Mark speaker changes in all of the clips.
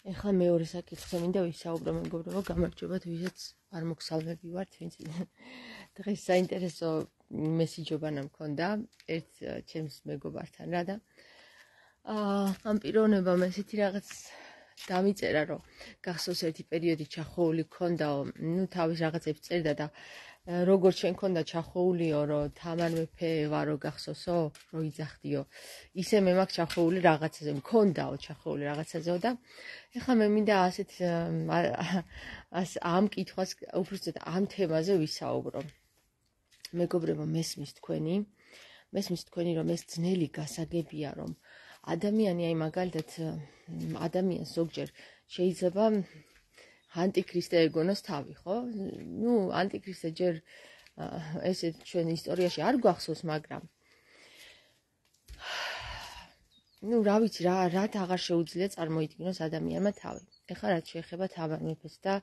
Speaker 1: ეხლა მეორე საკითხზე მინდა ვისაუბრო, მეგობრებო, გამარჯობათ, ვისაც არ მოგსალმები ვართ, ვინც დღეს საინტერესო მესიჯობა მქონდა ერთ ჩემს მეგობართან რა და ამ პიროვნებამ ესეთი რაღაც დამიწერა, რომ გახსოვს ერთი პერიოდი ჩახოული ქონდაო, თავის რაღაცებს წერდა და როგორც შენ ქონდა ჩახოულიო, რომ თამარ მეფე ვარო გახსოვსო, რომ იძახდიო. ისე მე მაქვს ჩახოული რაღაცაზე, მქონდაო ჩახოული რაღაცაზეო და ეხლა მე მინდა ასეთ ამ კითხვას უბრალოდ ამ თემაზე ვისაუბრო. მეგობრებო, მესმის თქვენი, რომ ეს ძნელი გასაგებია, რომ ადამიანი, აი მაგალითად ადამიანს ზოგჯერ შეიძლება ანტიქრისტე ეგონოს თავი, ხო? ანტიქრისტე ჯერ ესე ჩვენ ისტორიაში არ გვახსოვს, მაგრამ რა ვიცი, რაც აღარ შეუძლია წარმოიდგინოს ადამიანმა თავი. ეხლა რაც შეეხება თამარ მეფეს და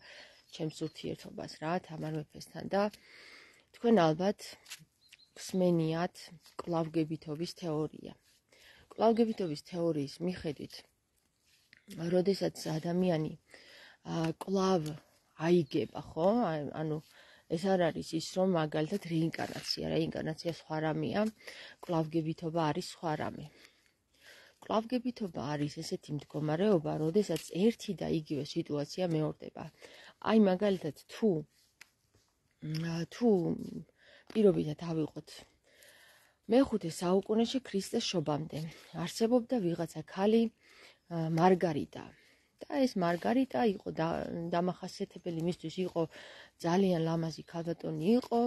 Speaker 1: ჩემს ურთიერთობას რა, თამარ მეფესთან და თქვენ ალბათ გსმენიათ კვლავგებითობის თეორია. კვლავგებითობის თეორიის მიხედვით, როდესაც ადამიანი კვლავ აიგება, ხო? ანუ ეს არ არის ის, რომ მაგალითად რეინკარნაცია სხვა რამეა, კვლავგებითობა არის სხვა რამე. კვლავგებითობა არის ესეთი მდგომარეობა, როდესაც ერთი და იგივე სიტუაცია მეორდება. აი მაგალითად თუ პირობითად ავიღოთ მე-5 საუკუნეში ქრისტეს შობამდე არსებობდა ვიღაცა ქალი მარგარიტა. და ეს მარგარიტა იყო დამახასიათებელი, მისთვის იყო ძალიან ლამაზი ქალბატონი იყო.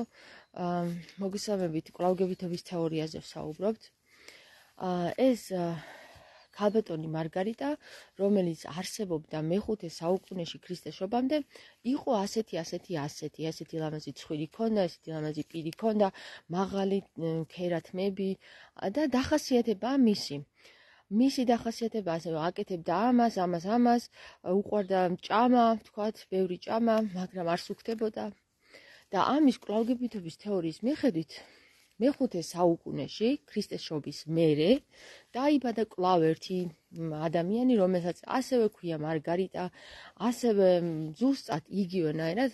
Speaker 1: მოგესალმებით, კვლავგებითობის თეორიაზე ვსაუბრობთ. ეს ქალბატონი მარგარიტა, რომელიც არსებობდა მე-5 საუკუნეში ქრისტეს შობამდე, იყო ასეთი ლამაზი ცხვირი ქონდა, ესეთი ლამაზი პირი ქონდა, მაღალი ქერათმები და დახასიათებაა მისი დახასიათება ასევე აკეთებდა ამას, უყვარდა ჭამა, თქვათ, ბევრი ჭამა, მაგრამ არ სუქდებოდა. და ამის კვლავგებითობის თეორიის მიხედვით მე-5 საუკუნეში ქრისტეს შობის მერე დაიბადა კვლავ ერთი ადამიანი, რომელსაც ასევე ქვია მარგარიტა, ასევე ზუსტად იგივენაირად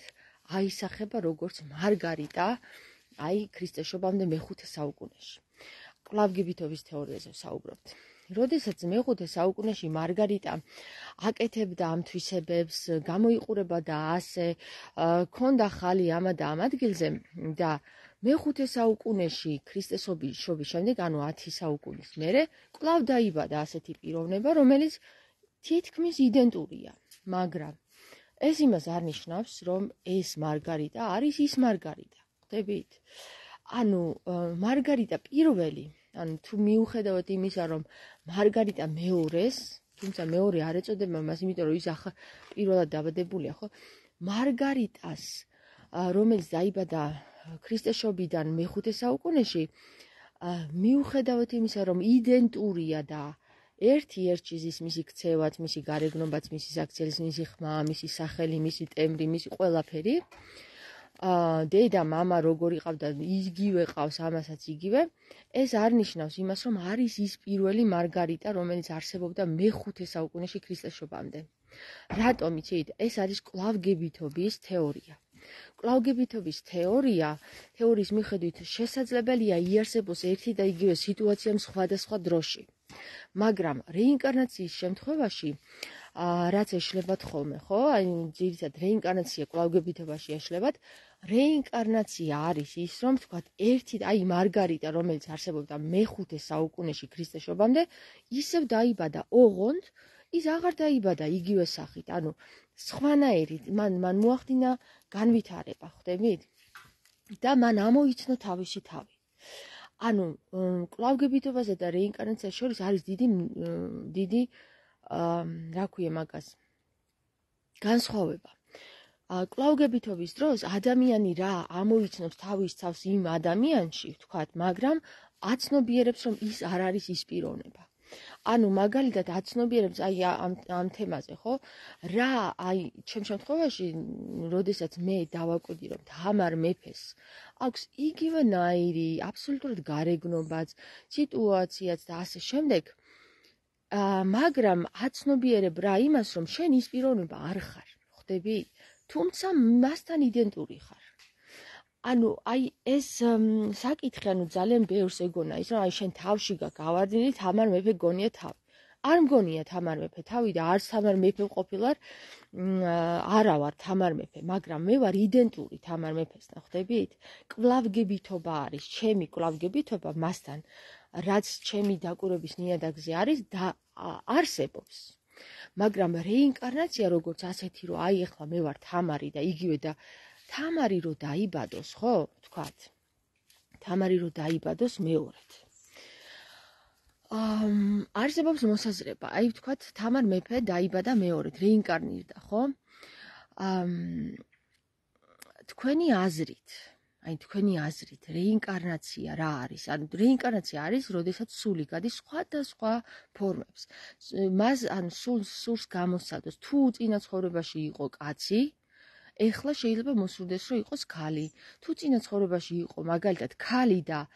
Speaker 1: აისახება როგორც მარგარიტა, აი ქრისტეს შობამდე მე-5 საუკუნეში. კვლავგებითობის თეორიაზე ვსაუბრობთ. როდესაც მე-5 საუკუნეში მარგარიტა აკეთებდა ამ თვისებებს, გამოიყურებოდა ასე, ქონდა ხალი ამა და ამ ადგილზე და მე-5 საუკუნეში ქრისტეს შობის შემდეგ, ანუ 10 საუკუნის მერე, კვლავ დაიბადა ასეთი პიროვნება, რომელიც თითქმის იდენტურია, მაგრამ ეს იმას არ ნიშნავს, რომ ეს მარგარიტა არის ის მარგარიტა. ხვდებით? ანუ მარგარიტა პირველი, ანუ თუ მიუხედავად იმისა, რომ მარგარიტა მეორეს, თუმცა მეორე არ ეწოდება მას, იმიტომ რომ ის პირველად დაბადებულია, ხო? მარგარიტას, რომელიც დაიბადა ქრისტეს შობიდან მე-5 საუკუნეში, მიუხედავად იმისა, რომ იდენტურია და ერთი ზის მისი ქცევაც, მისი გარეგნობაც, მისი საქციელის, მისი ხმა, მისი სახელი, მისი ტემბრი, მისი ყველაფერი, დედა, მამა როგორ იყავდა, იგივე ყავს, ამასაც იგივე, ეს არ ნიშნავს იმას, რომ არის ის პირველი მარგარიტა, რომელიც არსებობდა მე-5 საუკუნეში ქრისტეს შობამდე. რატომ იცით? ეს არის კვლავგებითობის თეორია. კვლავგებითობის თეორიის მიხედვით შესაძლებელია იარსებოს ერთი და იგივე სიტუაცია სხვადასხვა დროში. მაგრამ რეინკარნაციის შემთხვევაში, რაც ეშლებათ ხოლმე, ხო? აი ძირითადად რეინკარნაცია კვლავგებითობაში ეშლებათ. რეინკარნაცია არის ის, რომ თქვათ, ერთი აი მარგარიტა, რომელიც არსებობდა მე-5 საუკუნეში ქრისტეს შობამდე, ისევ დაიბადა ოღონდ, ის აღარ დაიბადა იგივე სახით, ანუ სხვანაირით, მან მოახდინა განვითარება, ხვდებით? და მან ამოიცნო თავისი თავი. ანუ კვლავგებითობასა და რეინკარნაციას შორის არის დიდი რა ქვია მაგას, განსხვავება. კვლავგებითობის დროს ადამიანი რა ამოიცნობს თავის თავს იმ ადამიანში, ვთქვათ, მაგრამ აცნობიერებს, რომ ის არ არის ის პიროვნება. ანუ მაგალითად აცნობიერებს აი ამ თემაზე, ხო? რა აი ჩემ შემთხვევაში, როდესაც მე დავაკვირდი, რომ თამარ მეფეს აქვს იგივენაირი აბსოლუტურად გარეგნობაც, სიტუაციაც და ასე შემდეგ, მაგრამ აცნობიერებ რა იმას, რომ შენ ის პიროვნება არ ხარ, ხვდები? თუმცა მასთან იდენტური ხარ. ანუ აი ეს საკითხი, ანუ ძალიან ბევრს ეგონა ის, რომ აი შენ თავში გავარდნილი თამარ მეფე გონია თავი. არ მგონია თამარ მეფე თავი და არც თამარ მეფე ყოფილვარ, არა ვარ თამარ მეფე, მაგრამ მე ვარ იდენტური თამარ მეფესთან, ხვდებით? კვლავგებითობა არის, ჩემი კვლავგებითობა მასთან, რაც ჩემი დაკვირვების ნიადაგზე არის და არსებობს. მაგრამ რეინკარნაცია როგორც ასეთი, რომ აი ახლა მე ვარ თამარი და იგივე და თამარი რო დაიბადოს, ხო, თქვათ. თამარი რო დაიბადოს მეორედ. არსებობს მოსაზრება, აი ვთქვათ, თამარ მეფე დაიბადა მეორედ, რეინკარნირდა, ხო? თქვენი აზრით, რეინკარნაცია რა არის? ანუ რეინკარნაცია არის, როდესაც სული გადის სხვადასხვა ფორმებს. მას ანუ სულს გამოსცადოს, თუ წინა ცხოვრებაში იყო კაცი, ეხლა შეიძლება მოსურდეს, რომ იყოს ქალი. თუ წინა ცხოვრებაში იყო მაგალითად ქალი და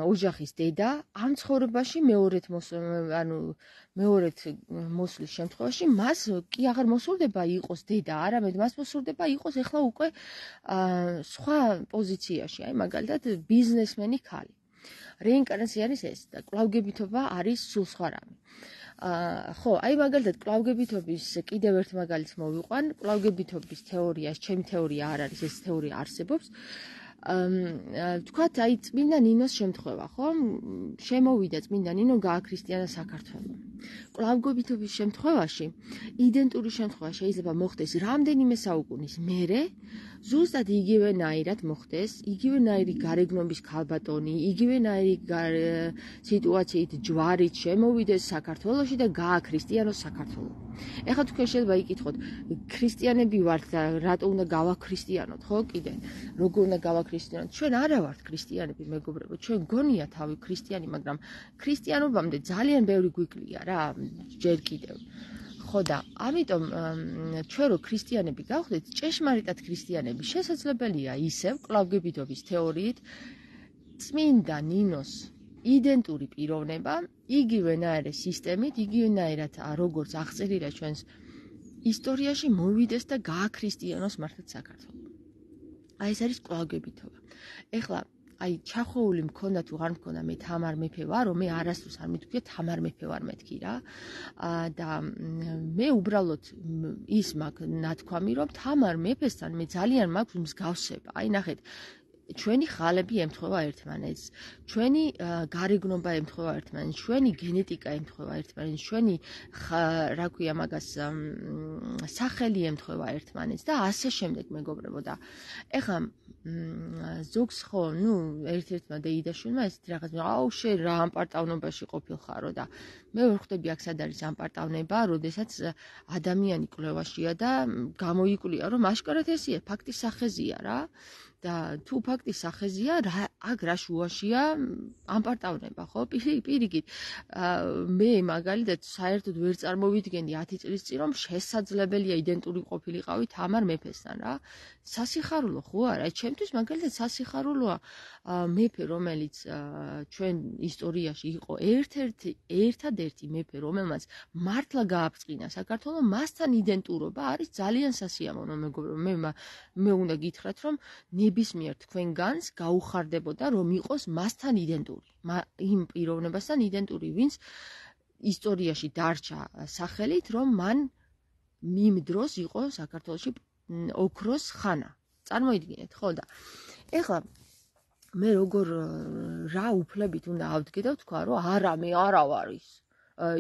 Speaker 1: ოჯახის დედა, ამ ცხოვრებაში მეორედ მოსვლის შემთხვევაში მას კი აღარ მოსურდება იყოს დედა, არამედ მას მოსურდება იყოს ეხლა უკვე სხვა პოზიციაში, აი მაგალითად ბიზნესმენი ქალი. რეინკარნაცია არის ეს და კვლავგებითობა არის სულ სხვა რამე. ხო, აი მაგალითად კვლავგებითობის კიდევ ერთ მაგალითს მოვიყვან. კვლავგებითობის თეორიას, ჩემი თეორია არ არის, ეს თეორია არსებობს. თქვათ, აი წმინდა ნინოს შემთხვევა, ხო? შემოვიდა წმინდა ნინო, გააქრისტიანა საქართველო. კვლავგებითობის შემთხვევაში, იდენტური შემთხვევა შეიძლება მოხდეს რამდენიმე საუკუნის მერე, ზუსტად იგივენაირად მოხდეს, იგივენაირი გარეგნობის ქალბატონი, იგივენაირი სიტუაციით ჯვარით შემოვიდეს საქართველოში და გააქრისტიანოს საქართველო. ეხლა თქვენ შეიძლება იკითხოთ, ქრისტიანები ვართ და რატო უნდა გავაქრისტიანოთ, ხო, კიდე? როგორ უნდა გავაქრისტიანოთ? ჩვენ არა ვართ ქრისტიანები, მეგობრებო, ჩვენ გონია თავი ქრისტიანი, მაგრამ ქრისტიანობამდე ძალიან ბევრი გვიკლია რა, ჯერ კიდევ. ხო და ამიტომ ჩვენ რო ქრისტიანები გავხდეთ, ჭეშმარიტად ქრისტიანები შესაძლებელია ისევ კვლავგებითობის თეორიით წმინდა ნინოს იდენტური პიროვნება, იგივენაირი სისტემით, იგივენაირად როგორც აღწერილია ჩვენს ისტორიაში მოვიდეს და გააქრისტიანოს მართლაც საქართველო. აი ეს არის კვლავგებითობა. ეხლა აი ჩახოვული მქონდა თუ არ მქონდა მე თამარ მეფე ვარო, მე არასდროს არ მithქვია თამარ მეფე ვარ მეთქი რა. და მე უბრალოდ ის მაქვს ნათქვამი, რომ თამარ მეფესთან მე ძალიან მაქვს მსგავსება. აი ნახეთ, ჩვენი ხალები ემთხვევა ერთმანეთს, ჩვენი გარეგნობა ემთხვევა ერთმანეთს, ჩვენი გენეტიკა ემთხვევა ერთმანეთს, ჩვენი რა ქვია მაგას სახელი ემთხვევა ერთმანეთს და ასე შემდეგ, მეგობრებო. და ეხლა ზოგს ხო, ერთ-ერთმა დეიდაშვილმა ესეთი რაღაც, აუ შენ რა ამპარტავნობაში ყოფილხარო და მე ვერ ხვდები აქ სად არის ამპარტავნება, როდესაც ადამიანი კვლევაშია და გამოიკვლია, რომ აშკარად ესია, ფაქტის სახეზია რა. და თუ ფაქტის სახეზია, აქ რა შუაშია ამპარტავნება, ხო? პირიქით, მე მაგალითად საერთოდ ვერ წარმოვიდგენდი 10 წლის წინ, რომ შესაძლებელია იდენტური ყოფილიყავი თამარ მეფესთან რა. სასიხარულო ხო არა? ჩემთვის მაგალითად სასიხარულოა მეფე, რომელიც ჩვენ ისტორიაში იყო ერთადერთი მეფე, რომელმაც მართლა გააფრთხინა საქართველო, მასთან იდენტურობა არის ძალიან სასიამოვნო, მეგობრებო. მე უნდა გითხრათ, რომ ნებისმიერ თქვენგანს გაუხარდებოდა, რომ იყოს მასთან იდენტური, იმ პიროვნებასთან იდენტური, ვინც ისტორიაში დარჩა სახელით, რომ მან იმ დროს იყო საქართველოში ოქროს ხანა. წარმოიდგინეთ, ხო და ეხლა მე როგორ რა უფლებით უნდა ავდგე და ვთქვა, რომ არა, მე არა ვარ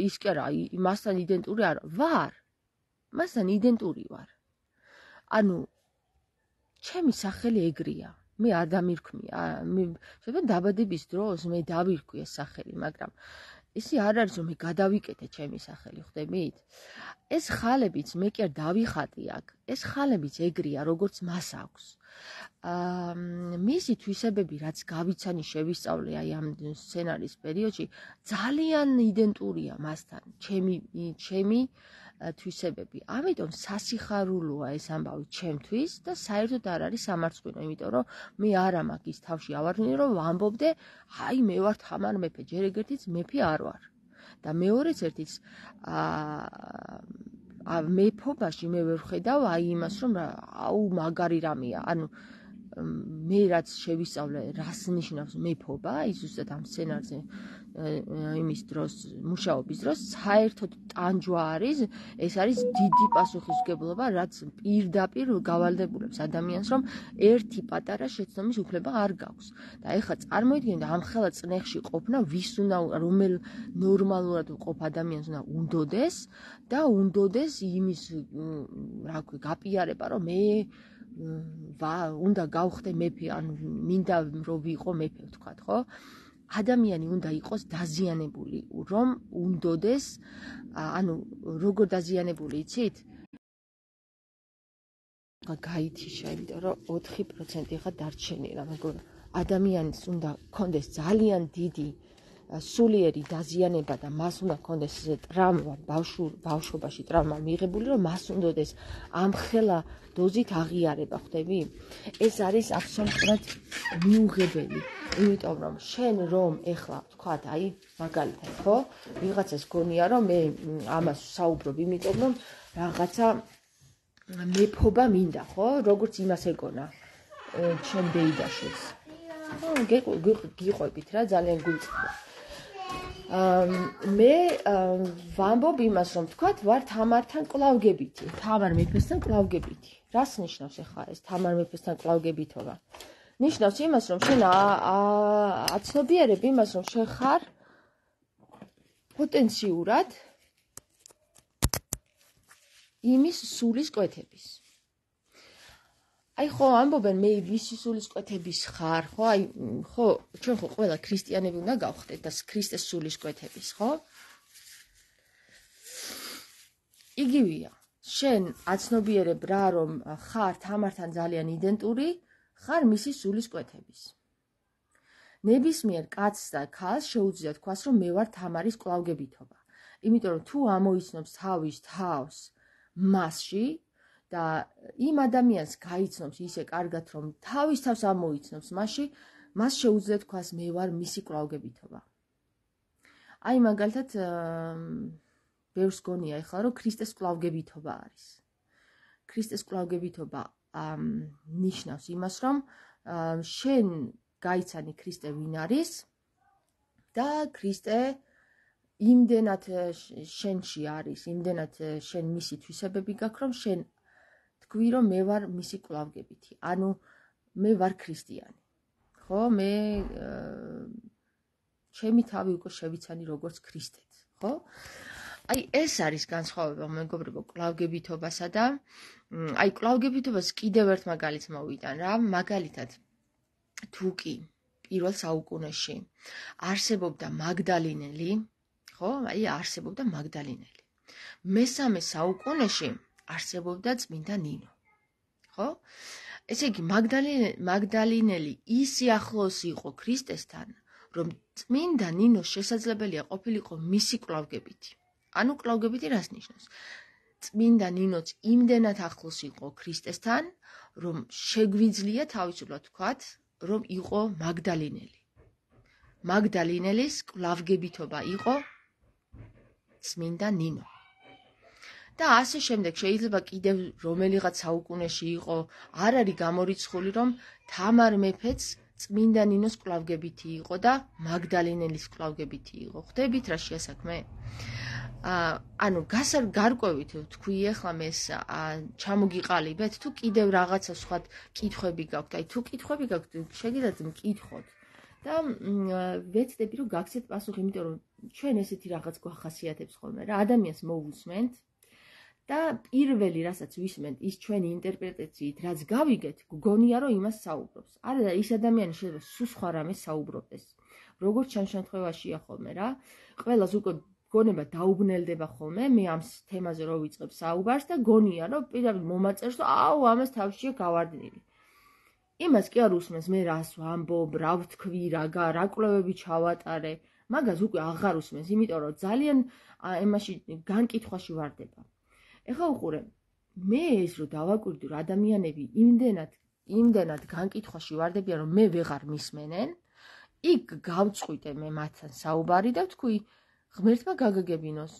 Speaker 1: ის კი არა, მასთან იდენტური არა ვარ. მასთან იდენტური ვარ. ანუ ჩემი სახელი ეგრეა. მე არ დამირქმია. შეიძლება დაბადების დროს მე დავირქვი ეს სახელი, მაგრამ ისი არ არის, რომ მე გადავიკეთე ჩემი სახელი, ხვდებით? ეს ხალებიც მე კი არ დავიხატი აქ. ეს ხალებიც ეგრეა, როგორც მას აქვს. მისი თვისებები, რაც გავიცანი, შევისწავლე აი ამ სცენარის პერიოდში, ძალიან იდენტურია მასთან. ჩემი თვისებები. ამიტომ სასიხარულოა ეს ამბავი ჩემთვის და საერთოდ არ არის სამარცხვინო, იმიტომ რომ მე არა მაქვს ის თავში ავარდნილი, რომ ვამბობდე, აი მე ვარ თამარ მეფე, ჯერ ეგერთიც მეფე არ ვარ. და მეორეც ერთიც მეფობაში მე ვერ ვხედავ აი იმას რომ აუ მაგარი რამეა, ანუ მე რაც შევისწავლე რას ნიშნავს მეფობა, ის ზუსტად ამ სცენარზე იმის დროს, მუშაობის დროს საერთოდ ტანჯვა არის, ეს არის დიდი პასუხისმგებლობა, რაც პირდაპირ გავალდებულებს ადამიანს, რომ ერთი პატარა შეცდომის უფლება არ გაქვს. და ეხლა წარმოიდგინეთ ამ ხელა წნეხში ყოფნა, ვის უნდა რომელ ნორმალურად ყოფ ადამიანს უნდა უნდოდეს და უნდოდეს იმის რა ქვია, გაპიარება, რომ მე უნდა გავხდე მეფე, ანუ მინდა რომ ვიყო მეფე, ვთქვათ, ხო? ადამიანი უნდა იყოს დაზიანებული, რომ უნდოდეს, ანუ როგორ დაზიანებული, იცით? გაითიშა, იმიტომ რომ 4% ხა დარჩენილა, მაგრამ ადამიანს უნდა კონდეს ძალიან დიდი სულიერი დაზიანება და მას უნდა კონდეს ტრავმა, ბავშვობაში ტრავმა მიღებული, რომ მას უნდოდეს ამ ხელა დოზით აღიარება, ხვდები? ეს არის აბსოლუტურად მიუღებელი, იმიტომ რომ შენ რომ ეხლა ვთქვათ, აი მაგალითად, ხო? ვიღაცას გონია რომ მე ამას საუბრობ, იმიტომ რომ რაღაცა მეფობა მინდა, ხო? როგორც იმას ეგონა ჩემ ბეიდაშვილს. გიყვებით რა, ძალიან გულწრფელია. მე ვამბობ იმას, რომ თქვათ, ვარ თამართან კლავგებითი, თამარ მეფესთან კლავგებითი. რას ნიშნავს ახლა ეს თამარ მეფესთან კლავგებითობა? ნიშნავს იმას, რომ შენ აცნობიერებ იმას, რომ შენ ხარ პოტენციურად იმის სულის კვეთების. აი ხო ამბობენ მე ვისი სულის კვეთების ხარ, ხო? აი ხო, ჩვენ ხო ყველა ქრისტიანები უნდა გავხდეთ და ქრისტეს სულის კვეთების, ხო? იგივეა. შენ აცნობიერებ რა, რომ ხარ თამართან ძალიან იდენტური, ხარ მისი სულის კვეთების. ნებისმიერ კაცს და ქალს შეუძლია თქვას, რომ მე ვარ თამარის კლავგებითობა. იმიტომ რომ თუ ამოიცნობს თავის თავს მასში და იმ ადამიანს გაიცნობს ისე კარგად, რომ თავის თავს ამოიცნობს მასში, მას შეუძლია თქვას მე ვარ მისი კლავგებითობა. აი მაგალითად ბევრს გონია ეხლა, რომ ქრისტეს კლავგებითობა არის. ქრისტეს კლავგებითობა ნიშნავს იმას, რომ შენ გაიცანი ქრისტე ვინ არის და ქრისტე იმდენად შენში არის, იმდენად შენ მისი თვისებები გაქვს, რომ შენ თქვი, რომ მე ვარ მისი კლავგებითი, ანუ მე ვარ ქრისტიანი. ხო, მე ჩემი თავი უკვე შევიცანი როგორც ქრისტეც, ხო? აი ეს არის განსხვავება მეგობრებო კლავგებითობასა და აი კლავგებითობას კიდევ ერთ მაგალითს მოვიტან რა, მაგალითად თუ კი პირველ საუკუნეში არსებობდა მაგდალინელი, ხო? აი არსებობდა მაგდალინელი. მესამე საუკუნეში არსებობდა წმინდა ნინო. ხო? ესე იგი მაგდალინელი ისე ახლოს იყო ქრისტესთან, რომ წმინდა ნინოს შესაძლებელია ყოფილიყო მისი კლავგებითი. ანუ კლავგებითი რას ნიშნავს? წმინდა ნინოც იმდენად ახლოს იყო ქრისტესთან, რომ შეგვიძლია თავისუფლად ვთქვათ, რომ იყო მაგდალინელი. მაგდალინელის კლავგებითობა იყო წმინდა ნინო. და ასე შემდეგ შეიძლება კიდევ რომელიღაც საუკუნეში იყო, არ არის გამორიცხული, რომ თამარ მეფეც წმინდა ნინოს კლავგებითი იყო და მაგდალინელის კლავგებითი იყო. ხვდებით რა შეასაქმე? ანუ გარკვევით თქვი ახლა მეს ჩამოგიყალიბეთ თუ კიდევ რაღაცა სხვა კითხვები გაქვთ. აი თუ კითხვები გაქვთ, შეგიძლიათ მკითხოთ. და ვეცდები რომ გაგცეთ პასუხი, იმიტომ რომ ჩვენ ესეთი რაღაც გვახასიათებს ხოლმე რა, ადამიანს მოვუსმენთ და პირველი რასაც ვისმენთ, ის ჩვენი ინტერპრეტაციით რაც გავიგეთ, გგონია რომ იმას საუბრობს. არა და ის ადამიანი შეიძლება სულ სხვა რამეს საუბრობდეს. როგორც ჩან შემთხვევაშია ხოლმე რა, ყველას უკვე გონება დაუბნელდება ხოლმე, მე ამ თემაზე რო ვიწყებ საუბარს და გონია რომ პირდაპირ მომაწერს, რომ აუ ამას თავშია გავარდნილი. იმას კი არ უსმენს მე რას ვამბობ, რა ვთქვი, რა კვლევები ჩავატარე, მაგას უკვე აღარ უსმენს, იმიტომ რომ ძალიან ემაში განკითხვაში ვარდება. ეხლა უყურე, მე ეს რო დავაკვირდი, რომ ადამიანები იმდენად განკითხვაში ვარდებიან, რომ მე ვეღარ მისმენენ, იქ გავწყვიტე მე მათთან საუბარი და ვთქვი, ღმერთმა გაგაგებინოს.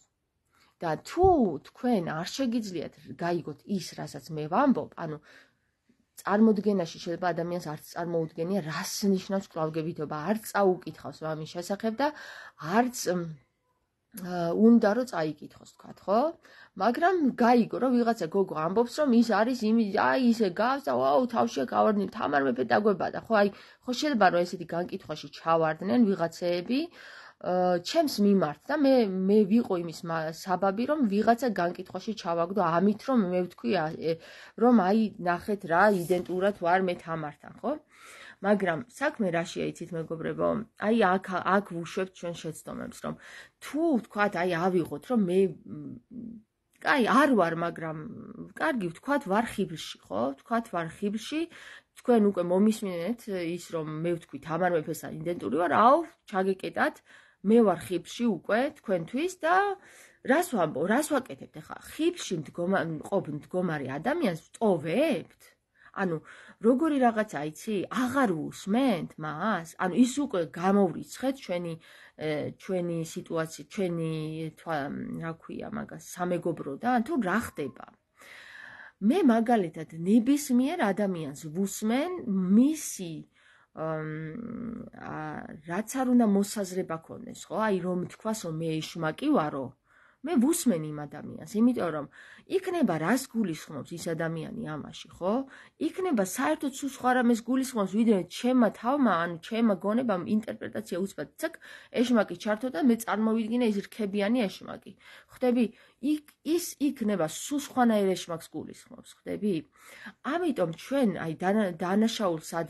Speaker 1: და თუ თქვენ არ შეგიძლიათ გაიგოთ ის, რასაც მე ვამბობ, ანუ წარმოდგენაში შეიძლება ადამიანს არც წარმოუდგენია, რას ნიშნავს კვლავგებითობა, არც წაუკითხავს ამის შესახებ და არც უნდა რომ წაიკითხოს, თქვათ, ხო? მაგრამ გაიგო, რომ ვიღაცა გოგო ამბობს, რომ ის არის ისე გავს და ვაუ, თავშია გავარდნილი, თამარ მეფე დაგვებადა, ხო? ხო შეიძლება რომ ესეთი განკითხვაში ჩავარდნენ ვიღაცეები ჩემს მიმართ და მე ვიყო იმის საბაბი, რომ ვიღაცა განკითხვაში ჩავაგდო, ამით რომ მე ვთქვი, რომ ნახეთ რა, იდენტურად ვარ მე თამართან, ხო? მაგრამ საქმე რაშია იცით მეგობრებო, აქ ვუშვებთ ჩვენ შეცდომებს, რომ თუ ვთქვათ, ავიღოთ, რომ მე არ ვარ, მაგრამ კარგი, ვთქვათ, ვარ ხიბლში, ხო? ვთქვათ, ვარ ხიბლში, თქვენ უკვე მომისმინეთ ის, რომ მე ვთქვი, თამარ მეფესთან იდენტური ვარ, ჩაგეკეტათ, მე ვარ ხიბლში უკვე თქვენთვის და რას ვამბო, რას ვაკეთებთ ახლა? ხიბლში ყოფ მდგომარე ადამიანს ვტოვებთ? ანუ როგორი რაღაცა იცი? აღარ უსმენთ მას? ანუ ის უკვე გამოვრიცხეთ ჩვენი სიტუაცია, ჩვენი რა ქვია მაგას, სამეგობროდან თუ რა ხდება? მე მაგალითად ნებისმიერ ადამიანს ვუსმენ მისი რაც არ უნდა მოსაზრება ქონდეს, ხო? რომ თქვასო მე ეშმაკი ვარო, მე ვუსმენ იმ ადამიანს, იმიტომ რომ იქნება რას გულისხმობს ის ადამიანი ამაში, ხო? იქნება საერთოდ სულ სხვა რამეს გულისხმობს, ვიდრე ჩემმა თავმა, ანუ ჩემმა გონებამ ინტერპრეტაცია უცბად, ცაკ, ეშმაკი ჩართო და მე წარმოვიდგინე ის რქებიანი ეშმაკი. ხვდები? ის იქნება სულ სხვანაირ ეშმაკს გულისხმობს, ხვდები? ამიტომ ჩვენ დანაშაულს სად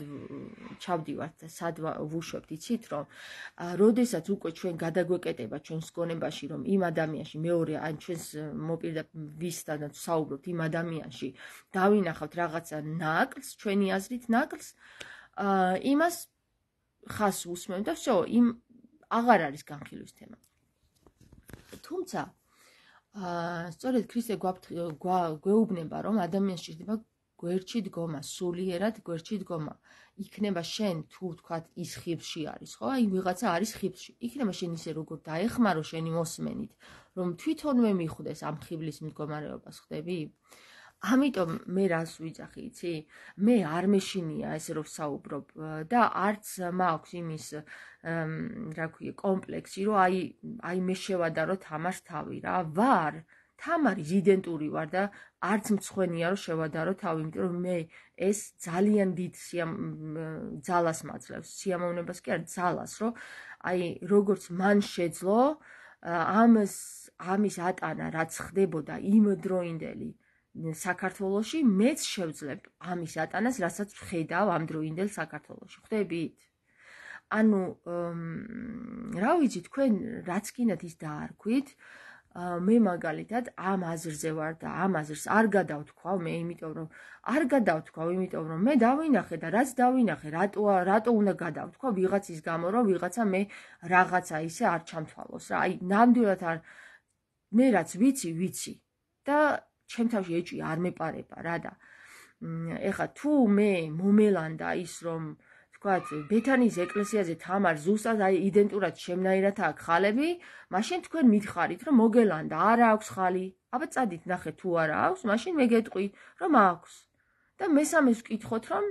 Speaker 1: ჩავდივართ და სად ვუშვებთ, იცით, რომ როდესაც უკვე ჩვენ გადაგვეკეტება ჩვენს გონებაში, რომ იმ ადამიანში მეორე ან ჩვენს მოპირდაპირისთანაც საუბრობთ იმ ადამიანში, დავინახავთ რაღაცა ნაკლს, ჩვენი აზრით ნაკლს, იმას ხას უსმევთ და всё, იმ აღარ არის განხილვის თემა. თუმცა სწორედ ქრისტე გვეუბნება, რომ ადამიანს სჭირდება გვერდში დგომა, სულიერად გვერდში დგომა. იქნება შენ თუ ვთქვათ ის ხიბლში არის, ხო? ვიღაცა არის ხიბლში. იქნება შენ ისე როგორ დაეხმარო შენი მოსმენით, რომ თვითონვე მიხვდეს ამ ხიბლის მდგომარეობას, ხვდები? ამიტომ მე რას ვიძახი, იცი? მე არ მეშინია ესე რომ ვსაუბრობ და არც მაქვს იმის რა ქვია, კომპლექსი, რომ აი მე შევადარო თამარს თავი რა. ვარ, თამარის იდენტური ვარ და არც მცხვენია რომ შევადარო თავი, იმიტომ რომ მე ეს ძალიან დიდ ძალას მაძლევს, სიამოვნებას კი არა, ძალას, რომ აი როგორც მან შეძლო ამის ატანა, რაც ხდებოდა იმდროინდელი საქართველოში, მეც შევძლებ ამის ატანას, რასაც ვხედავ ამ დროინდელ საქართველოში. ხვდებით? ანუ რა ვიცი, თქვენ რაც გინდათ ის დაარქვით, მე მაგალითად ამ აზრზე ვარ და ამ აზრს არ გადავთქვავ მე, იმიტომ რომ მე დავინახე და რაც დავინახე, რატო უნდა გადავთქვა ვიღაცის გამო, რომ ვიღაცა მე რაღაცა ისე არ ჩამთვალოს რა. აი, ნამდვილად არ მე რაც ვიცი და ჩემ თავში ეჭვი არ მეპარება რა და ეხლა თუ მე მომელანდა ის რომ თქვათ ბეთანის ეკლესიაზე თამარ ზუსტად აი იდენტურად შემნაირად აქ ხალები, მაშინ თქვენ მითხარით რომ მოგელანდა, არა აქვს ხალი. აბა წადით ნახეთ თუ არა აქვს, მაშინ მე გეტყვი რომ აქვს. და მესამეს ვკითხოთ რომ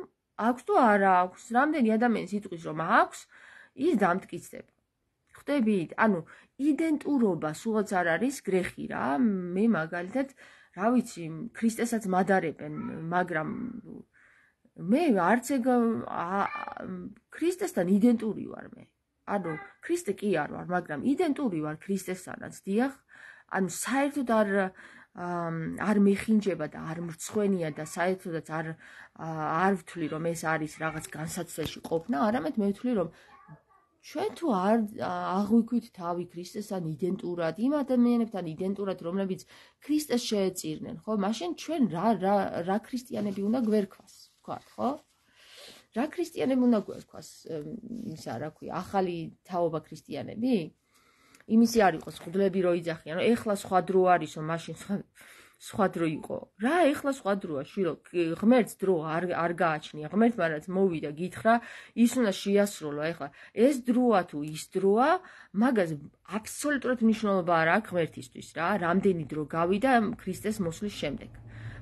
Speaker 1: აქვს თუ არა აქვს. რამდენი ადამიანი იტყვის რომ აქვს, ის დამტკიცდება. ხვდებით? ანუ იდენტურობა სულაც არ არის გრეხი რა. მე მაგალითად რა ვიცი, ქრისტესაც მადარებენ, მაგრამ მე არც ქრისტესთან იდენტური ვარ მე. ანუ ქრისტე კი არ ვარ, მაგრამ იდენტური ვარ ქრისტესთანაც, დიახ. ანუ საერთოდ არ მეხინჯება და არ მრცხვენია და საერთოდაც არ ვთვლი რომ ეს არის რაღაც განსაცდელში ყოფნა, არამედ მე ვთვლი რომ ჩვენ თუ არ აღვიქვით თავი ქრისტესთან იდენტურად, იმ ადამიანებთან იდენტურად, რომლებიც ქრისტეს შეეწირნენ, ხო? მაშინ ჩვენ რა ქრისტიანები უნდა გვერქვას, თქვა, ხო? რა ქრისტიანები უნდა გვერქვას, ისა რა ქვია, ახალი თაობა ქრისტიანები? იმისი არ იყოს ხდლები რო იძახიან, რომ ეხლა სხვა დრო არისო, მაშინ სხვა სხვა დრო იყო. რა ეხლა სხვა დროა, შვილო, ღმერთს დრო არ გააჩნია. ღმერთმა რაც მოვიდა, გითხრა, ის უნდა შეასრულო. ეხლა ეს დროა თუ ის დროა, მაგას აბსოლუტურად მნიშვნელობა არ აქვს ღმერთისთვის რა. რამდენი დრო გავიდა ქრისტეს მოსვლის შემდეგ.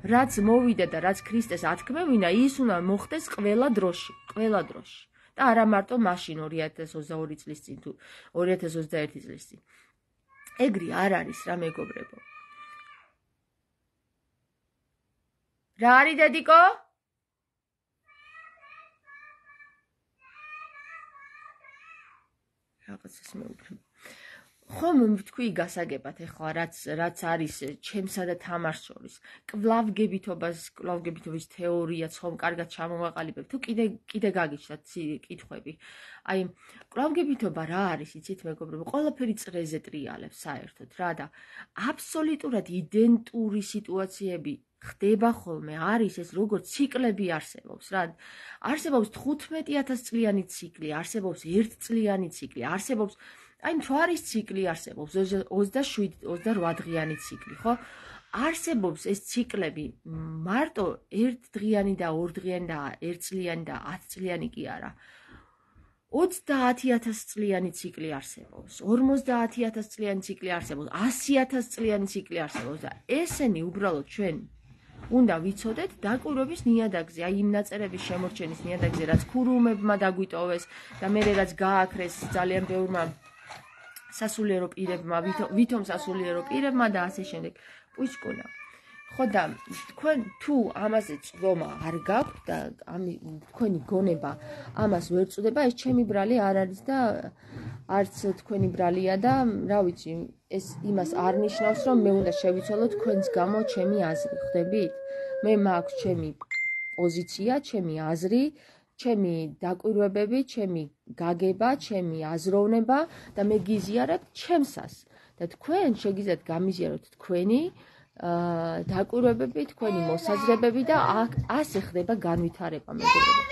Speaker 1: რაც მოვიდა და რაც ქრისტეს ათქმევინა, ის უნდა მოხდეს ყველა დროში, ყველა დროში. და არა მარტო მაშინ 2022 წლის წინ თუ 2021 წლის წინ. ეგრე არ არის რა მეგობრებო. რა არის დედიკო? რაღაცას მეუბნება. ხომ თქვი გასაგებად ეხლა რაც არის ჩემსა და თამარს შორის კვლავგებითობის თეორიაც ხომ კარგად ჩამოვაყალიბებ თუ კიდე გაგიჩნდათ კითხვები. აი კვლავგებითობა რა არის იცით მეგობრებო? ყველაფერი წრეზე ტრიალებს საერთოდ რა და აბსოლუტურად იდენტური სიტუაციები ხდება ხოლმე, არის ეს როგორც ციკლები არსებობს რა. არსებობს 15,000 წლიანი ციკლი, არსებობს 1 წლიანი ციკლი, არსებობს აი მთვარის ციკლი არსებობს 27-28 დღიანი ციკლი, ხო? არსებობს ეს ციკლები მარტო 1 დღიანი და 2 დღიანი და 1 წლიანი და 10 წლიანი კი არა. 30,000 წლიანი ციკლი არსებობს, 50,000 წლიანი ციკლი არსებობს, 100,000 წლიანი ციკლი არსებობს და ესენი უბრალოდ ჩვენ უნდა ვიცოდეთ დაკვირვების ნიადაგზე, აი იმ ნაწერების შემორჩენის ნიადაგზე, რაც ქურუმებმა დაგვიტოვეს და მე რაც გააქრეს ძალიან ბევრმა სასულიერო პირებმა, ვითომ სასულიერო პირებმა და ასე შემდეგ. პუჭკუნა. ხო და თქვენ თუ ამაზე წვდომა არ გაქვთ და თქვენი გონება ამას ვერ წვდება, ეს ჩემი ბრალი არ არის და არც თქვენი ბრალია და რა ვიცი, ეს იმას არ ნიშნავს, რომ მე უნდა შევიცვალო თქვენს გამო ჩემი აზრი, ხვდებით? მე მაქვს ჩემი პოზიცია, ჩემი აზრი, ჩემი დაკვირვებები, ჩემი გაგება, ჩემი აზროვნება და მე გიზიარებ ჩემსას და თქვენ შეგიძლიათ გამიზიაროთ თქვენი დაკვირვებები, თქვენი მოსაზრებები და ასე ხდება განვითარება მეგობრებო.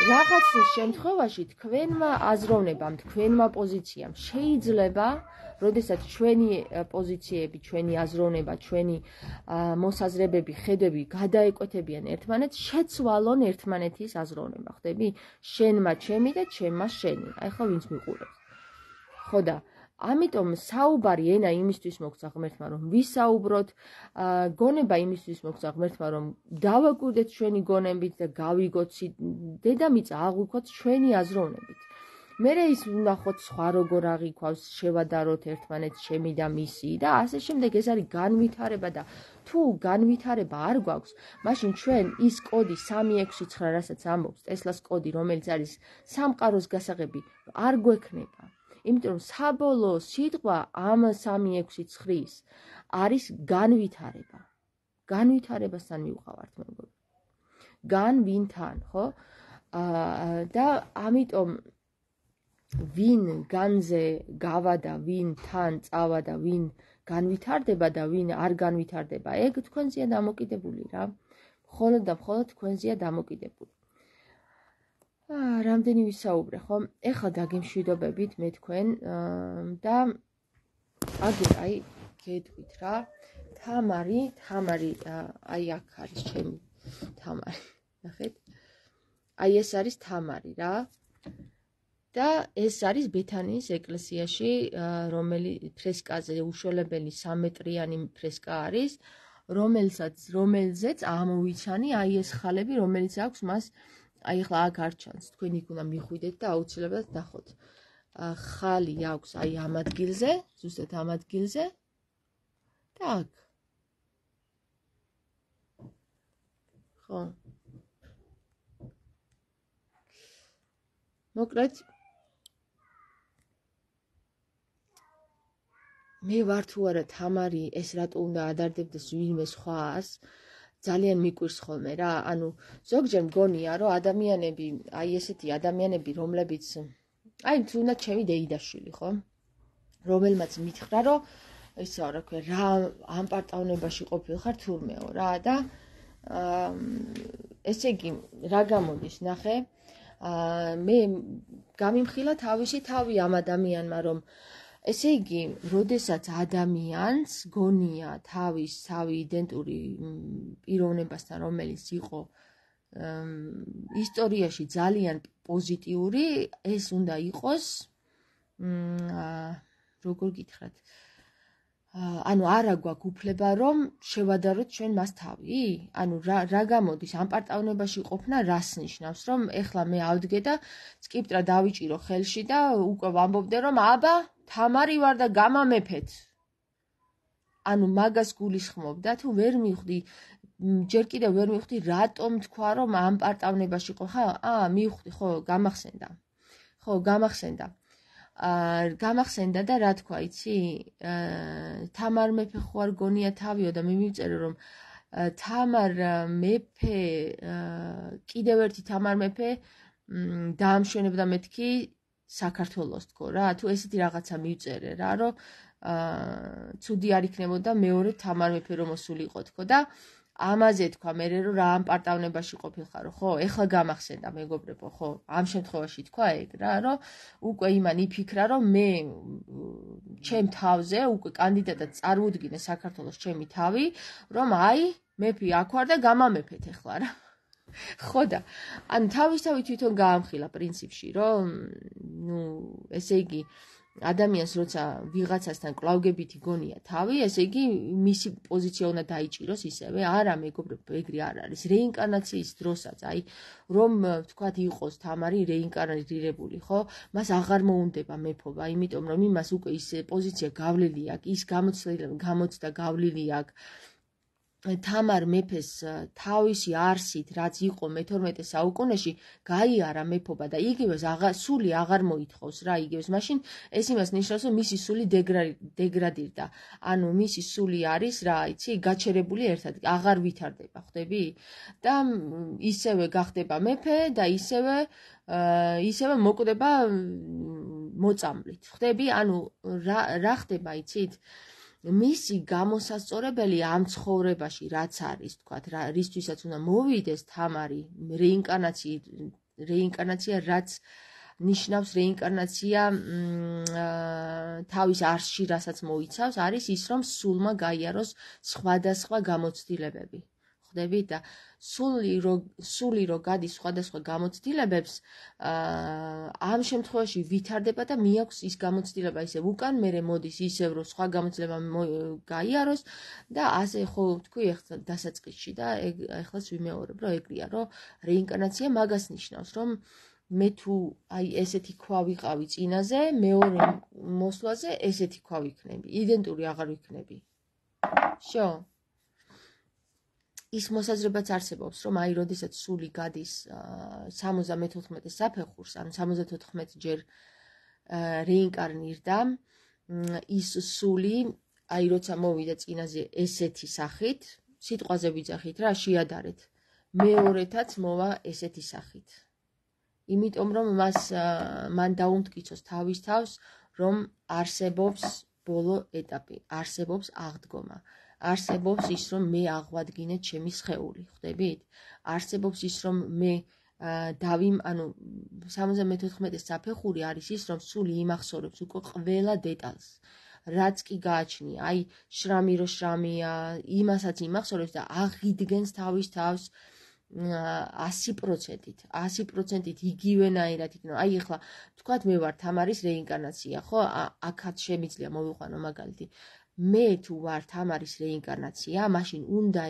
Speaker 1: რაღაც შემთხვევაში თქვენმა აზროვნებამ, თქვენმა პოზიციამ შეიძლება, როდესაც ჩვენი პოზიციები, ჩვენი აზროვნება, ჩვენი მოსაზრებები, ხედვები გადაეკვეთებიან ერთმანეთს, შეცვალონ ერთმანეთის აზროვნება, ხვდები? შენმა ჩემი და ჩემმა შენი. აი ხო ვინც მიყურებს. ხო და ამიტომ საუბარი ენა იმისთვის მოგცა ღმერთმა, რომ ვისაუბროთ, გონება იმისთვის მოგცა ღმერთმა, რომ დავაკვირდეთ ჩვენი გონებით და გავიგოთ დედამიწა აღვიქვათ ჩვენი აზროვნებით. მერე ის ვნახოთ სხვა როგორ აღიქვავს, შევადაროთ ერთმანეთს ჩემი და მისი და ასე შემდეგ. ეს არის განვითარება და თუ განვითარება არ გვაქვს, მაშინ ჩვენ ის კოდი 369, რასაც ამბობს ტესლას კოდი, რომელიც არის სამყაროს გასაღები, არ გვექნება. იმიტომ რომ საბოლოო სიტყვა ამ 369-ის არის განვითარება. განვითარებასთან მივყავართ მეგობრებო. განვინთან, ხო? და ამიტომ ვინ განზე გავა და ვინ თან წავა და ვინ განვითარდება და ვინ არ განვითარდება, ეგ თქვენზეა დამოკიდებული რა. მხოლოდ და მხოლოდ თქვენზეა დამოკიდებული. რამდენი ვისაუბრე, ხო? ეხლა დაგემშვიდობებით მე თქვენ და აგერ აი გეტყვით რა. თამარი, აი აქ არის ჩემი თამარი. ნახეთ? აი ეს არის თამარი რა. და ეს არის ბეთანიის ეკლესიაში, ფრესკაზე უშველებელი 3 მეტრიანი ფრესკა არის, რომელზეც ამოვიცანი აი ეს ხალები, რომელიც აქვს მას, აი ახლა აქ არ ჩანს, თქვენ იქ უნდა მიხვიდეთ და აუცილებლად ნახოთ. ხალი აქვს აი ამ ადგილზე, ზუსტად ამ ადგილზე და აქ. ხო. მოკლედ მე ვარ თუ არა თამარი, ეს რატო უნდა ადარდებდეს ვინმე სხვას, ძალიან მიკვირს ხოლმე რა. ანუ ზოგჯერ მგონია, რომ ადამიანები, აი ესეთი ადამიანები, რომლებიც აი თუნდაც ჩემი დეიდაშვილი, ხო? რომელმაც მითხრა, რომ ისა რა ქვია, რა ამ პარტავნებაში ყოფილხარ თურმეო რა და ესე იგი რა გამოდის, ნახე? მე გამიმხილა თავისი თავი ამ ადამიანმა, რომ ესე იგი, როდესაც ადამიანს გონია თავის თავი იდენტური პიროვნებასთან, რომელიც იყო ისტორიაში ძალიან პოზიტიური, ეს უნდა იყოს, როგორ გითხრათ, ანუ არა გვაქვს უფლება რომ შევადაროთ ჩვენ მას თავი? ანუ რა გამოდის ამ პარტავნებაში ყოფნა რას ნიშნავს, რომ ეხლა მე ავდგე და სკიპტრა დავიჭირო ხელში და უკვე ვამბობდე რომ აბა თამარი ვარ და გამამეფეთ. ანუ მაგას გულისხმობდა თუ ვერ მივხვდი, ჯერ კიდევ ვერ მივხვდი რატომ თქვა რომ ამ პარტავნებაში ხო? მივხვდი, ხო, გამახსენდა. ხო, გამახსენდა. გამახსენდა და რა თქვა, იცი? თამარ მეფე ხო არ გონია თავიო და მე მივწერე რომ თამარ მეფე, კიდევ ერთი თამარ მეფე დაამშვენებდა მეთქი საქართველოს თქო რა, თუ ესეთი რაღაცა მივწერე რა, რომ ცუდი არ იქნებოდა მეორე თამარ მეფე რომ მოსულიყო თქო და ამაზე თქვა მე რომ რა ამ პარტავნებაში ყოფილხარო, ხო? ეხლა გამახსენდა მეგობრებო, ხო? ამ შემთხვევაში თქვა ეგ რა, რომ უკვე იმან იფიქრა, რომ მე ჩემ თავზე უკვე კანდიდატად წარუდგინე საქართველოს ჩემი თავი, რომ აი მეფე აქ ვარ და გამამეფეთ ეხლა რა. ხო და ანუ თავისთავად თვითონ გაამხილა პრინციპში, რომ ესე იგი ადამიანს როცა ვიღაცასთან კლავგებითი გონია თავი, ესე იგი მისი პოზიცია უნდა დაიჭიროს ისევე. არა, მეგობრებო, ეგრე არ არის. რეინკარნაციის დროსაც, აი, რომ ვთქვათ, იყოს თამარი რეინკარნირებული, ხო? მას აღარ მოუნდება მეფობა, იმიტომ რომ იმას უკვე ის პოზიცია გავლილი აქვს, ის გამოცდა გავლილი აქვს. თამარ მეფეს თავისი არსით, რაც იყო მე-12 საუკუნეში, გაიარა მეფობა და იგივეს სული აღარ მოითხოვს რა, იგივეს. მაშინ ეს იმას ნიშნავს, რომ მისი სული დეგრადირდა. ანუ მისი სული არის რა, იცი, გაჩერებული ერთად, აღარ ვითარდება, ხვდები? და ისევე გახდება მეფე და ისევე მოკვდება მოწამვლით. ხვდები? ანუ რა ხდება, იცით? მისი გამოსასწორებელი ამ ცხოვრებაში რაც არის, თქვათ, რისთვისაც უნდა მოვიდეს თამარი, რეინკარნაცია, რაც ნიშნავს რეინკარნაცია თავის არსში, რასაც მოიცავს, არის ის, რომ სულმა გაიაროს სხვადასხვა გამოცდილებები. ხვდებით და სული რო გადის სხვადასხვა გამოცდილებებს, ამ შემთხვევაში ვითარდება და მიაქვს ის გამოცდილება ისევ უკან, მერე მოდის ისევ რომ სხვა გამოცდილება გაიაროს და ასე ხო თქვი ახლა დასაწყისში და ახლაც ვიმეორებ, რომ ეგრეა, რომ რეინკარნაცია მაგას ნიშნავს, რომ მე თუ აი ესეთი ქვა ვიყავი წინაზე, მეორე მოსვლაზე ესეთი ქვა ვიქნები, იდენტური აღარ ვიქნები. შო ის მოსაზრებაც არსებობს, რომ აი, როდესაც სული გადის 74 საფეხურს, ანუ 74 ჯერ რეინკარნირდა, ის სული, აი, როცა მოვიდა წინაზე ესეთი სახით, სიტყვაზე ვიძახით რა, შეადარეთ, მეორეთაც მოვა ესეთი სახით. იმიტომ, რომ მან დაუმტკიცოს თავის თავს, რომ არსებობს ბოლო ეტაპი, არსებობს აღდგომა. არსებობს ის, რომ მე აღვადგინე ჩემი სხეული, ხვდებით? არსებობს ის, რომ მე ანუ 74 საფეხური არის ის, რომ სული იმახსოვრებს უკვე ყველა დეტალს. რაც კი გააჩნია, აი, შრამი რო შრამია, იმასაც იმახსოვრებს და აღიდგენს თავის თავს 100%-ით იგივენაირად იქნება. აი, ახლა ვთქვათ, მე ვარ თამარის რეინკარნაცია, ხო? აქაც შემიძლია მოვიყვანო მაგალითი. მე თუ ვარ თამარის რეინკარნაცია, მაშინ უნდა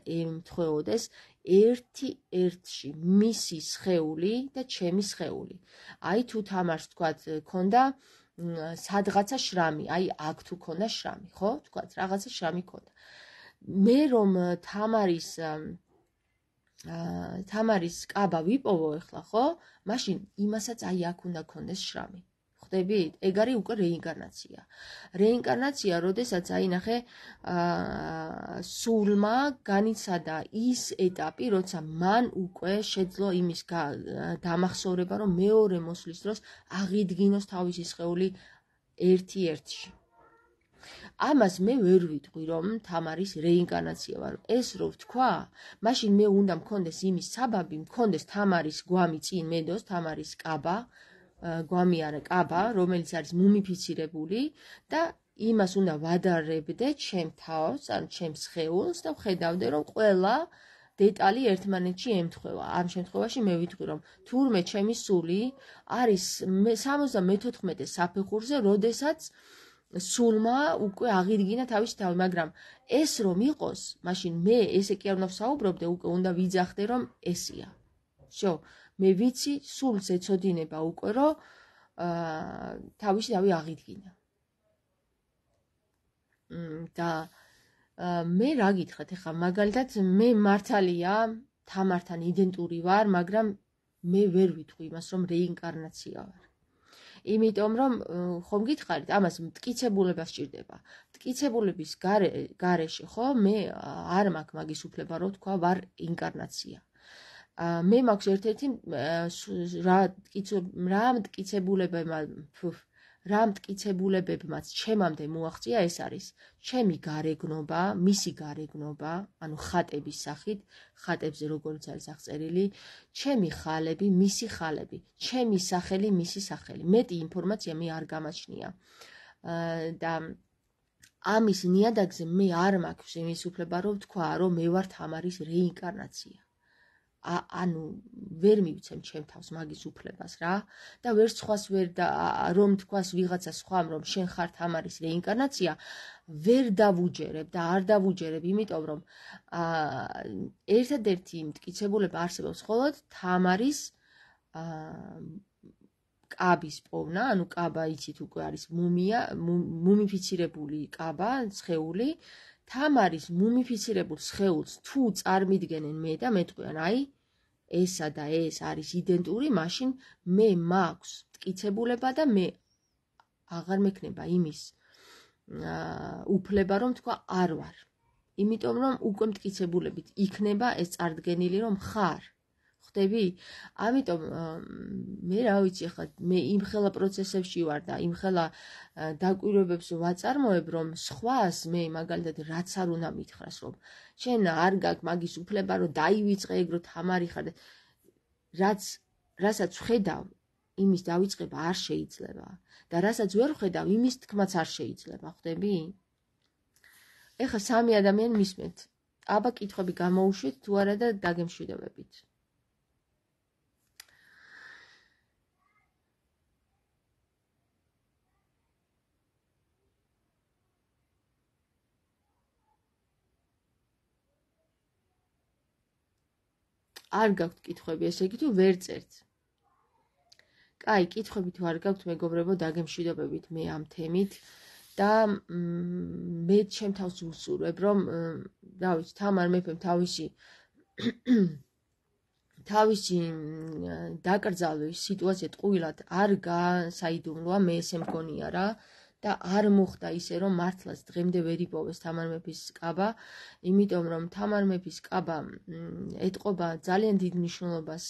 Speaker 1: ემთხვეოდეს ერთი-ერთში მისი სხეული და ჩემი სხეული. აი, თუ თამარს ვთქვათ, ქონდა სადღაცა შრამი, აი, აქ თუ ქონდა შრამი, ხო? ვთქვათ, რაღაცა შრამი ქონდა. მე რომ თამარის კაბა ვიპოვო ახლა, ხო? მაშინ იმასაც აი აქ უნდა ქონდეს შრამი. ხვდებით? ეგ არის უკვე რეინკარნაცია. რეინკარნაცია, როდესაც აი ნახე, სულმა განიცადა ის ეტაპი, როცა მან უკვე შეძლო იმის დამახსოვრება, რომ მეორე მოსვლის დროს აღიდგინოს თავისი სხეული ერთი-ერთში. ამას მე ვერ ვიტყვი, რომ თამარის რეინკარნაცია ვარ. ეს რო ვთქვა, მაშინ მე უნდა მქონდეს იმის საბაბი, მქონდეს თამარის გვამი წინ მედოს, თამარის კაბა, გვამიარა კაბა, რომელიც არის მუმიფიცირებული და იმას უნდა ვადარებდე ჩემ თავს, ანუ ჩემ სხეულს და ვხედავდე, რომ ყველა დეტალი ერთმანეთში ემთხვევა. ამ შემთხვევაში მე ვიტყვი, რომ თურმე ჩემი სული არის 74 საფეხურზე, როდესაც სულმა უკვე აღიდგინა თავისი თავი, მაგრამ ეს რომ იყოს, მაშინ მე ესე კი არ უნდა ვსაუბრობდე, უკვე უნდა ვიძახდე, რომ ესია. всё, მე ვიცი, სულს ეცოდინება უკვე, რომ თავისი თავი აღიდგინა. და მე რა გითხრათ, ეხლა მაგალითად მე მართალია თამართან იდენტური ვარ, მაგრამ მე ვერ ვიტყვი იმას, რომ რეინკარნაცია ვარ. იმიტომ რომ ხომ გითხარით, ამას მტკიცებულება სჭირდება. მტკიცებულების გარეშე, ხო, მე არ მაქვს მაგის უფლება, რომ თქვა ვარ ინკარნაცია. მე მაქვს ერთ-ერთი რა მტკიცებულებებმაც ჩემამდე მოაღწია, ეს არის ჩემი გარეგნობა, მისი გარეგნობა, ანუ ხატების სახით, ხატებზე როგორც არის აღწერილი, ჩემი ხალები, მისი ხალები, ჩემი სახელი, მისი სახელი. მეტი ინფორმაცია მე არ გამაჩნია. და ამის ნიადაგზე მე არ მაქვს იმის უფლება, რომ თქვა, რომ მე ვარ თამარის რეინკარნაცია. ანუ ვერ მივცემ ჩემ თავს მაგის უფლებას რა და ვერც სხვას ვერ რომ თქვას ვიღაცა სხვამ რომ შენ ხარ თამარის რეინკარნაცია ვერ დავუჯერებ და არ დავუჯერებ, იმიტომ რომ ერთადერთი მტკიცებულება არსებობს მხოლოდ თამარის კაბის პოვნა, ანუ კაბა იცით უკვე არის მუმიფიცირებული კაბა, სხეული, თამარის მუმიფიცირებულ სხეულს თუ წარმიდგენენ მე და მეტყვიან, აი ესა და ეს არის იდენტური, მაშინ მე მაქვს მტკიცებულება და მე აღარ მექნება იმის უფლება, რომ თქვა არ ვარ. იმიტომ რომ უკვე მტკიცებულებით იქნება ეს წარდგენილი, რომ ხარ. ხვდები? ამიტომ მე რა ვიცი, ახლა მე იმხელა პროცესებში ვარ და იმხელა დაკვირვებებს ვაწარმოებ, რომ სხვას მე მაგალითად რაც არ უნდა მითხრას, რომ შენ არ გაქვს მაგის უფლება, რომ დაივიწყე ეგ, რომ თამარი ხარ, რასაც ვხედავ, იმის დავიწყება არ შეიძლება და რასაც ვერ ვხედავ, იმის თქმაც არ შეიძლება, ხვდები? ეხლა სამი ადამიანი მისმენთ. აბა კითხვები გამოუშვით თუ არა და დაგემშვიდობებით. არ გაქვთ კითხვები, ესე იგი თუ ვერ წერთ. კაი, კითხვები თუ არ გაქვთ, მეგობრებო, დაგემშვიდობებით მე ამ თემით და მე ჩემ თავს ვუსურვებ, რომ რა ვიცი, თამარ მეფემ თავისი დაკრძალვის სიტუაცია ტყუილად არ გასაიდუმლოა, მე ესე მგონია რა. და არ მოხდა ისე, რომ მართლაც დღემდე ვერ იპოვეს თამარ მეფის კაბა, იმიტომ რომ თამარ მეფის კაბა ეტყობა ძალიან დიდ მნიშვნელობას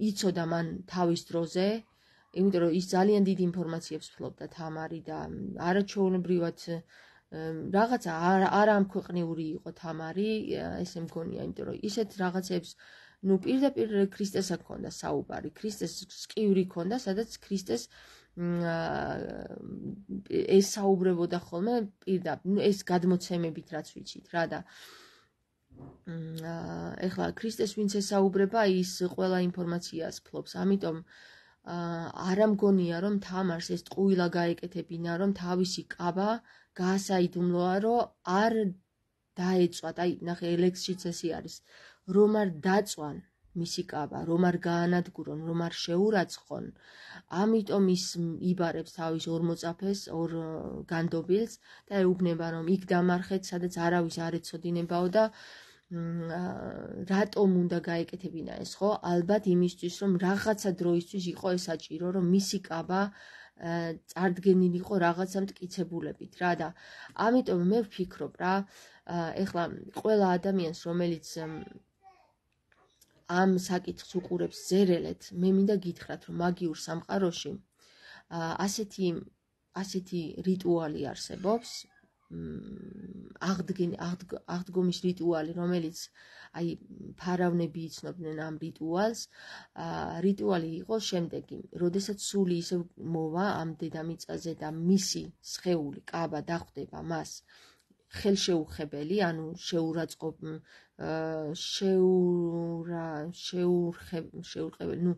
Speaker 1: იცოდა მან თავის დროზე, იმიტომ რომ ის ძალიან დიდ ინფორმაციებს ფლობდა თამარი და არაჩვეულებრივად რაღაცა არამქვეყნიური იყო თამარი, ესე მგონია, იმიტომ რომ ისეთ რაღაცებს ნუ პირდაპირ ქრისტესა ჰქონდა საუბარი, ქრისტეს სკივრი ჰქონდა, სადაც ქრისტეს ეს საუბრებოდა ხოლმე პირდაპირ, ეს გადმოცემებით რაც ვიცით რა და ეხლა ქრისტეს ვინც ესაუბრება, ის ყველა ინფორმაციას ფლობს, ამიტომ არ ამგონია რომ თამარს ეს ტყუილა გაეკეთებინა, რომ თავისი კაბა გაასაიდუმლოა, რომ არ დაეწვათ, აი ნახე ელექსშიც ესე არის, რომ არ დაწვან მისი კაბა, რომ არ გაანადგურონ, რომ არ შეურაცხონ, ამიტომ ის იბარებს თავის ორ მოწაფეს, ორ განდობილს და ეუბნება, რომ იქ დამარხეთ, სადაც არავის არ ეცოდინებაო და რატომ უნდა გაეკეთებინა ეს, ხო? ალბათ იმისთვის, რომ რაღაცა დროისთვის იყო ეს საჭირო, რომ მისი კაბა წარდგენილიყო რაღაცა მტკიცებულებით რა და ამიტომ მე ვფიქრობ რა, ეხლა ყველა ადამიანს, რომელიც ამ საკითხს უყურებს ზერელეთ, მე მინდა გითხრათ, რომ მაგიურ სამყაროში ასეთი რიტუალი არსებობს, აღდგომის რიტუალი, რომელიც აი ფარავნები იცნობდნენ ამ რიტუალს. რიტუალი იყო შემდეგი, როდესაც სული ისევ მოვა ამ დედამიწაზე და მისი სხეული კაბა დახვდება მას ხელშეუხებელი, ანუ შეურყებელი,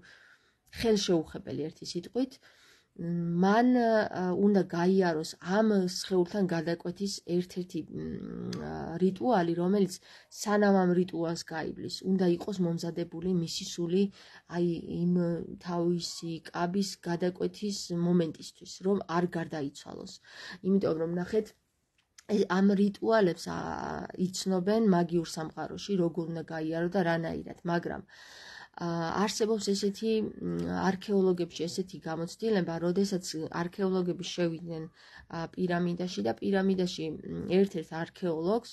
Speaker 1: ხელშეუხებელი ერთი სიტყვით, მან უნდა გაიაროს ამ სხეულთან გადაკვეთის ერთ-ერთი რიტუალი, რომელიც სანამ ამ რიტუალს გაივლის, უნდა იყოს მომზადებული მისი სული აი იმ თავისი კაბის გადაკვეთის მომენტისთვის, რომ არ გარდაიცვალოს. იმიტომ რომ ნახეთ, ამ რიტუალებს იცნობენ მაგიურ სამყაროში, როგორ უნდა გაიარო და რანაირად, მაგრამ არსებობს ესეთი არქეოლოგებში ესეთი გამოცდილება, როდესაც არქეოლოგები შევიდნენ პირამიდაში და პირამიდაში ერთ-ერთ არქეოლოგს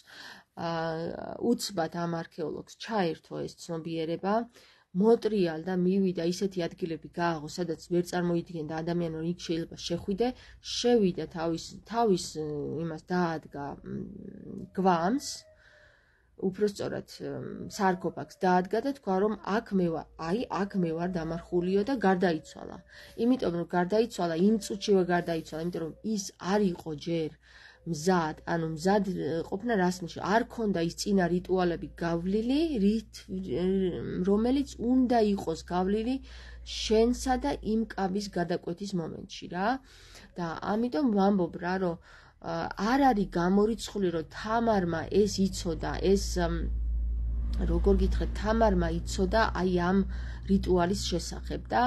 Speaker 1: უცბად ამ არქეოლოგს ჩაერთო ეს ცნობიერება, მოტრიალდა, მივიდა ისეთი ადგილები გააღო, სადაც ვერ წარმოიდგენდა ადამიანი, რომ იქ შეიძლება შეხვიდე, შევიდა თავის იმას დაადგა გვამს, უпростоრად სარკოფაგს დაადგა და თქვა, რომ აქ მე ვარ დამარხულიო და გარდაიცვალა. იმიტომ რომ გარდაიცვალა, იმ წუთშივე გარდაიცვალა, იმიტომ რომ ის არ იყო ჯერ მზად, ანუ მზად ყოფნა რას ნიშნავს? არ ქონდა ის წინა რიტუალები გავლილი, რომელიც უნდა იყოს გავლილი შენსა და იმ კაბის გადაკვეთის მომენტში რა. და ამიტომ ვამბობ რა, რომ არ არის გამორიცხული, რომ თამარმა ეს იცოდა, ეს როგორ გითხრათ, თამარმა იცოდა აი ამ რიტუალის შესახებ და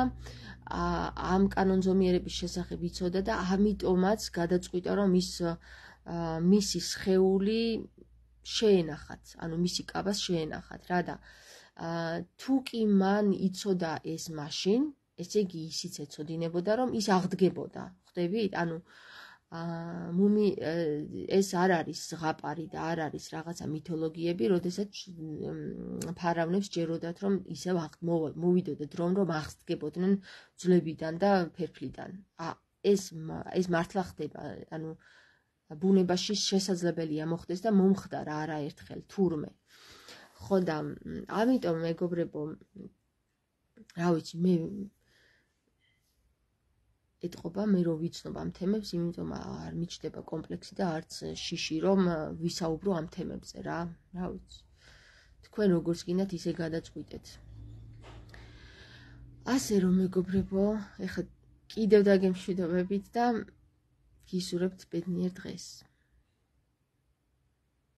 Speaker 1: ამ კანონზომიერების შესახებ იცოდა და ამიტომაც გადაწყვიტა, რომ მისი სხეული შეენახათ, ანუ მისი კაბას შეენახათ რა და თუ კი მან იცოდა ეს მაშინ, ესე იგი ისიც ეცოდინებოდა, რომ ის აღდგებოდა, ხვდებით? ანუ ეს არ არის ზღაპარი და არ არის რაღაცა მითოლოგიები, როდესაც ფარავნებს ჯეროდათ, რომ ისევ მოვიდოდეთ დრო, რომ აღდგებოდნენ ძვლებიდან და ფერფლიდან. ეს მართლა ხდება, ანუ ბუნებაში შესაძლებელია მოხდეს და მომხდარა არაერთხელ თურმე. ხო და ამიტომ მეგობრებო, რა ვიცი, მე ეთყობა მე რო ვიცნობ ამ თემებს, იმიტომ არ მიჩნდება კომპლექსი და არც შიში, რომ ვისაუბრო ამ თემებზე რა ვიცი. თქვენ როგორც გინდათ ისე გადაწყვიტეთ. ასე რომ მეგობრებო, ეხლა კიდევ დაგემშვიდობებით და გისურვებთ ბედნიერ დღეს.